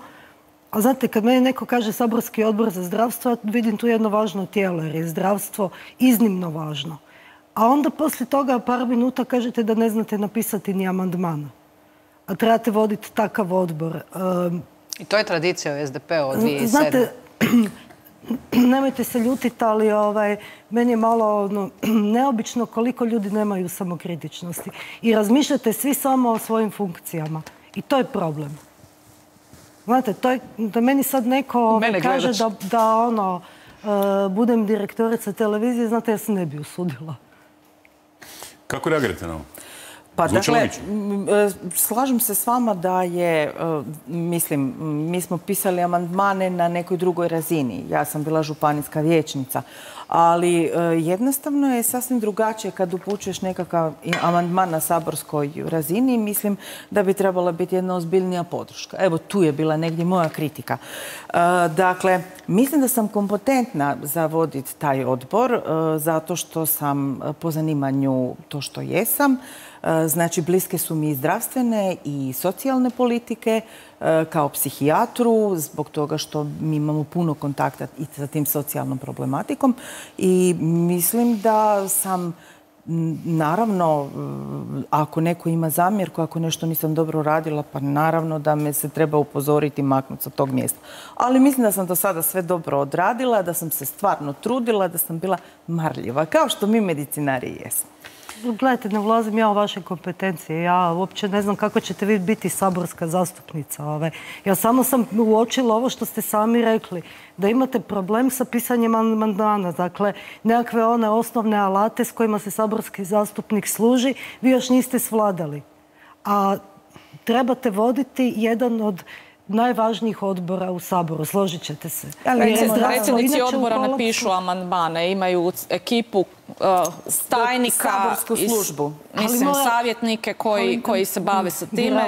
A znate, kad meni neko kaže saborski odbor za zdravstvo, ja vidim tu jedno važno tijelo jer je zdravstvo iznimno važno. A onda poslije toga par minuta kažete da ne znate napisati ni amandman. A trebate voditi takav odbor. I to je tradicija u SDP-u od 2007. Znate, nemojte se ljutiti, ali meni je malo neobično koliko ljudi nemaju samokritičnosti. I razmišljate svi samo o svojim funkcijama. I to je problem. Znate, da meni sad neko kaže da budem direktorica televizije, znate, ja se ne bi usudila. Kako reagirate na ovo? Pa dakle, slažem se s vama da je, mislim, mi smo pisali amandmane na nekoj drugoj razini. Ja sam bila županijska vijećnica, ali jednostavno je sasvim drugačije kad upućuješ nekakav amandman na saborskoj razini. Mislim da bi trebala biti jedna ozbiljnija podrška. Evo, tu je bila negdje moja kritika. Dakle, mislim da sam kompetentna za voditi taj odbor zato što sam po zanimanju to što jesam. Znači, bliske su mi i zdravstvene i socijalne politike kao psihijatru, zbog toga što mi imamo puno kontakta i sa tim socijalnom problematikom. I mislim da sam, naravno, ako neko ima zamjerku, ako nešto nisam dobro radila, pa naravno da me se treba upozoriti i maknuti sa tog mjesta. Ali mislim da sam do sada sve dobro odradila, da sam se stvarno trudila, da sam bila marljiva, kao što mi medicinari jesmo. Gledajte, ne ulazim ja u vaše kompetencije. Ja uopće ne znam kako ćete vi biti saborska zastupnica. Ja samo sam uočila ovo što ste sami rekli, da imate problem sa pisanjem amandmana. Dakle, nekakve one osnovne alate s kojima se saborski zastupnik služi, vi još niste svladali. A trebate voditi jedan od najvažnijih odbora u Saboru, složit ćete se. Predsjednici odbora ne pišu amandmane, imaju ekipu tajnika, saborsku službu. Mislim, savjetnike koji se bave sa time.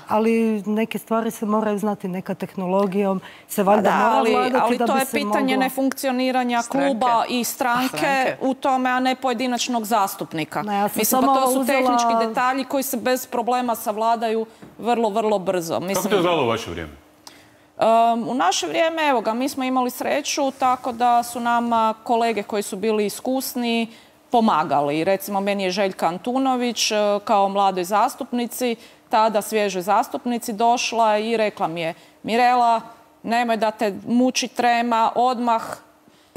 Ali neke stvari se moraju znati, neka tehnologijom se valjda mora vladati da bi se moglo... Ali to je pitanje nefunkcioniranja kluba i stranke u tome, a ne pojedinačnog zastupnika. Mislim, pa to su tehnički detalji koji se bez problema savladaju vrlo, vrlo brzo. Kako to je izgledalo u vaše vrijeme? U naše vrijeme, evo ga, mi smo imali sreću tako da su nam kolege koji su bili iskusni pomagali. Recimo, meni je Željka Antunović kao mladoj zastupnici, tada svježoj zastupnici, došla i rekla mi je: Mirela, nemoj da te muči trema, odmah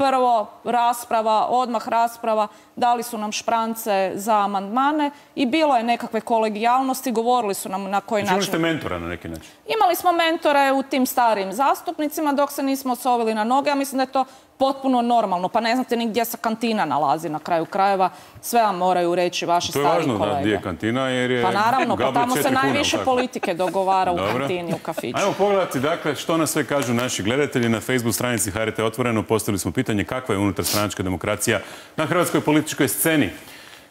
prvo rasprava, odmah rasprava, dali su nam šprance za amandmane i bilo je nekakve kolegijalnosti, govorili su nam na koji način. Imali ste mentora na neki način? Imali smo mentore u tim starijim zastupnicima dok se nismo osovili na noge. Ja mislim da je to potpuno normalno. Pa ne znate ni gdje se kantina nalazi na kraju krajeva. Sve vam moraju reći vaši stariji kolege. To je važno da gdje je kantina jer je... Pa naravno, pa tamo se najviše politike dogovara u kantini, u kafiću. Ajmo pogledati, dakle, što nas sve kažu naši gledatelji. Na Facebook stranici HRT Otvoreno postavili smo pitanje kakva je unutarstranačka demokracija na hrvatskoj političkoj sceni.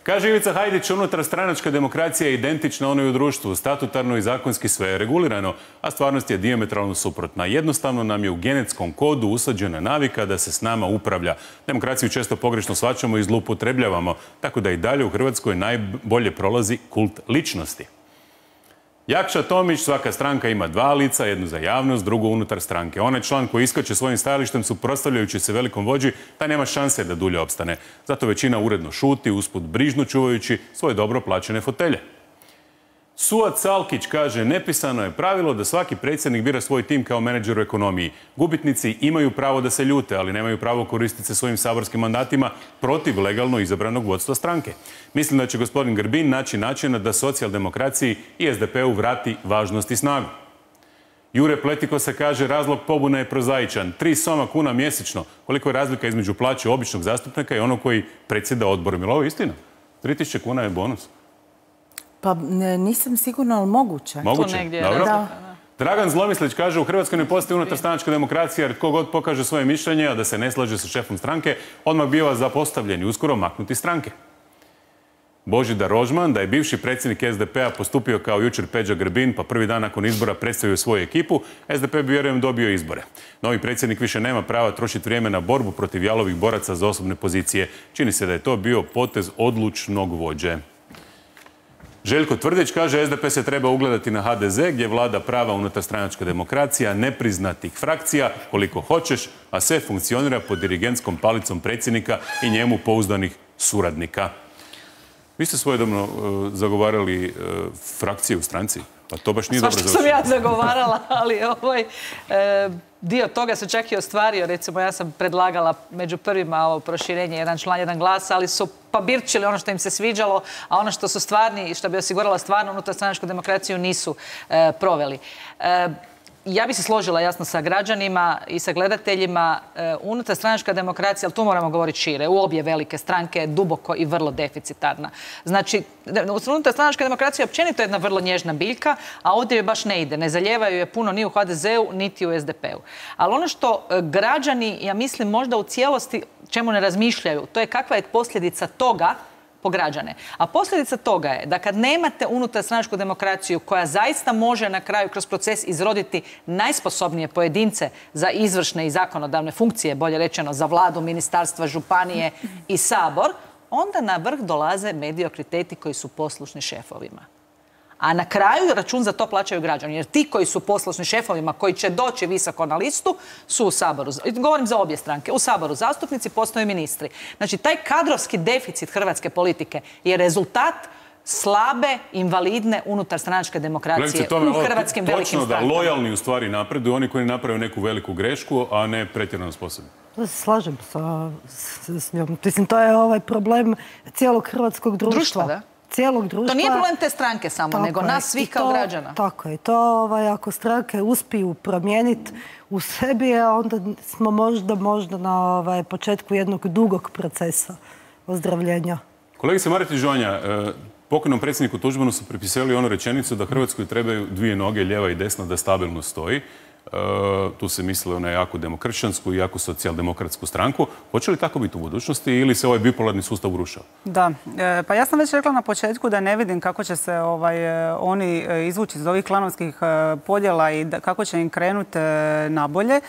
Kaže Ivica Hajdić, unutarstranačka demokracija je identična onoj u društvu, statutarno i zakonski sve je regulirano, a stvarnost je dijametralno suprotna. Jednostavno nam je u genetskom kodu usađena navika da se s nama upravlja. Demokraciju često pogrešno shvaćamo i zloupotrebljavamo, tako da i dalje u Hrvatskoj najbolje prolazi kult ličnosti. Jakša Tomić, svaka stranka ima dva lica, jednu za javnost, drugu unutar stranke. Onaj član koji iskače svojim stajalištem suprotstavljajući se velikom vođi, taj nema šanse da dulje opstane. Zato većina uredno šuti, usput brižno čuvajući svoje dobro plaćene fotelje. Suat Salkić kaže, nepisano je pravilo da svaki predsjednik bira svoj tim kao menadžer u ekonomiji. Gubitnici imaju pravo da se ljute, ali nemaju pravo koristiti se svojim saborskim mandatima protiv legalno izabranog vodstva stranke. Mislim da će gospodin Grbin naći načina da socijaldemokraciji i SDP-u vrati važnost i snagu. Jure Pletiko se kaže, razlog pobune je prozaičan. 3 soma kuna mjesečno. Koliko je razlika između plaće običnog zastupnika i onog koji predsjeda odborom? Je li ovo istina? 3000 kuna je bonus. Pa nisam sigurna, ali moguće. Moguće? Dobro. Dragan Zlomislić kaže, u Hrvatskoj ne postoji unutarstranačka demokracija jer tko god pokaže svoje mišljenje, a da se ne slaže sa šefom stranke, odmah biva zapostavljen i uskoro maknuti stranke. Božidar Rožman, da je bivši predsjednik SDP-a postupio kao jučer Peđa Grbin, pa prvi dan nakon izbora predstavio svoju ekipu, SDP bi vjerujem dobio izbore. Novi predsjednik više nema prava trošiti vrijeme na borbu protiv jalovih boraca za osobne pozicije. Čini se da je to bio potez odlučnog vođe. Željko Tvrdić kaže, SDP se treba ugledati na HDZ gdje vlada prava unutarstranačka demokracija, nepriznatih frakcija, koliko hoćeš, a sve funkcionira pod dirigentskom palicom predsjednika i njemu pouzdanih suradnika. Vi ste svojedobno zagovarali frakcije u stranci? Pa to baš nije dobro završeno. Svašta sam ja zagovarala, ali dio toga se čak i ostvario. Recimo, ja sam predlagala među prvima ovo proširenje jedan član, jedan glas, ali su pabirčili ono što im se sviđalo, a ono što su stvarni i što bi osigurala stvarno unutarstranačku demokraciju nisu proveli. Ja bi se složila jasno sa građanima i sa gledateljima. Unutarstranačka demokracija, ali tu moramo govoriti šire, u obje velike stranke je duboko i vrlo deficitarna. Znači, unutarstranačka demokracija općenito je jedna vrlo nježna biljka, a ovdje joj baš ne ide. Ne zalijevaju je puno ni u HDZ-u, niti u SDP-u. Ali ono što građani, ja mislim, možda u cijelosti čemu ne razmišljaju, to je kakva je posljedica toga po građane. A posljedica toga je da kad nemate unutarstranačku demokraciju koja zaista može na kraju kroz proces izroditi najsposobnije pojedince za izvršne i zakonodavne funkcije, bolje rečeno za vladu, ministarstva, županije i sabor, onda na vrh dolaze mediokriteti koji su poslušni šefovima. A na kraju račun za to plaćaju građani. Jer ti koji su poslušni šefovima, koji će doći visoko na listu, su u Saboru. Govorim za obje stranke. U Saboru zastupnici, postaju ministri. Znači, taj kadrovski deficit hrvatske politike je rezultat slabe, invalidne unutarstranačke demokracije u hrvatskim velikim strankama. Točno da lojalni u stvari napreduju oni koji naprave neku veliku grešku, a ne pretjerano sposobni. Slažem s njom. Mislim, to je ovaj problem cijelog hrvatskog društva. Da? Cijelog društva. To nije problem te stranke samo, nego nas svih kao građana. Tako je. To ako stranke uspiju promijeniti u sebi, onda smo možda na početku jednog dugog procesa ozdravljenja. Kolegice Mareti Žonja, pokojnom predsjedniku Tuđmanu su pripisali onu rečenicu da Hrvatskoj trebaju 2 noge, lijeva i desna, da stabilno stoji. Tu se mislilo na jako demokršćansku i jako socijaldemokratsku stranku. Hoće li tako biti u budućnosti ili se ovaj bipolarni sustav urušava? Da, pa ja sam već rekla na početku da ne vidim kako će se oni izvući iz ovih klanovskih podjela i kako će im krenuti nabolje.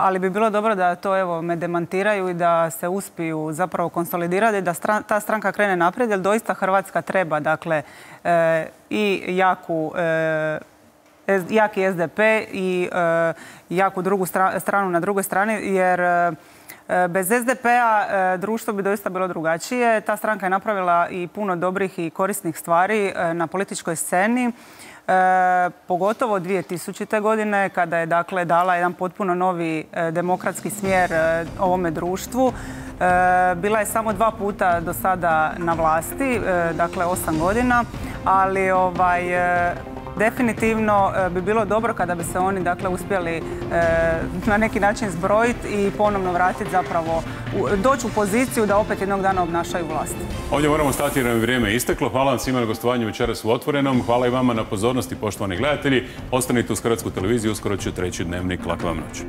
Ali bi bilo dobro da to me demantiraju i da se uspiju zapravo konsolidirati, da ta stranka krene naprijed, jer doista Hrvatska treba i jaki SDP i jaku drugu stranu na drugoj strani, jer bez SDP-a društvo bi doista bilo drugačije. Ta stranka je napravila i puno dobrih i korisnih stvari na političkoj sceni. pogotovo 2000. godine kada je dakle dala jedan potpuno novi demokratski smjer ovome društvu. Bila je samo 2 puta do sada na vlasti, dakle 8 godina, ali definitivno bi bilo dobro kada bi se oni dakle uspjeli na neki način zbrojiti i ponovno vratiti zapravo, doći u poziciju da opet jednog dana obnašaju vlast. Ovdje moramo stati jer nam je vrijeme isteklo. Hvala vam svima na gostovanju večeras u Otvorenom. Hvala i vama na pozornosti, poštovani gledatelji. Ostanite uz Hrvatsku televiziju, uskoro će 3. Dnevnik. Laka vam noć.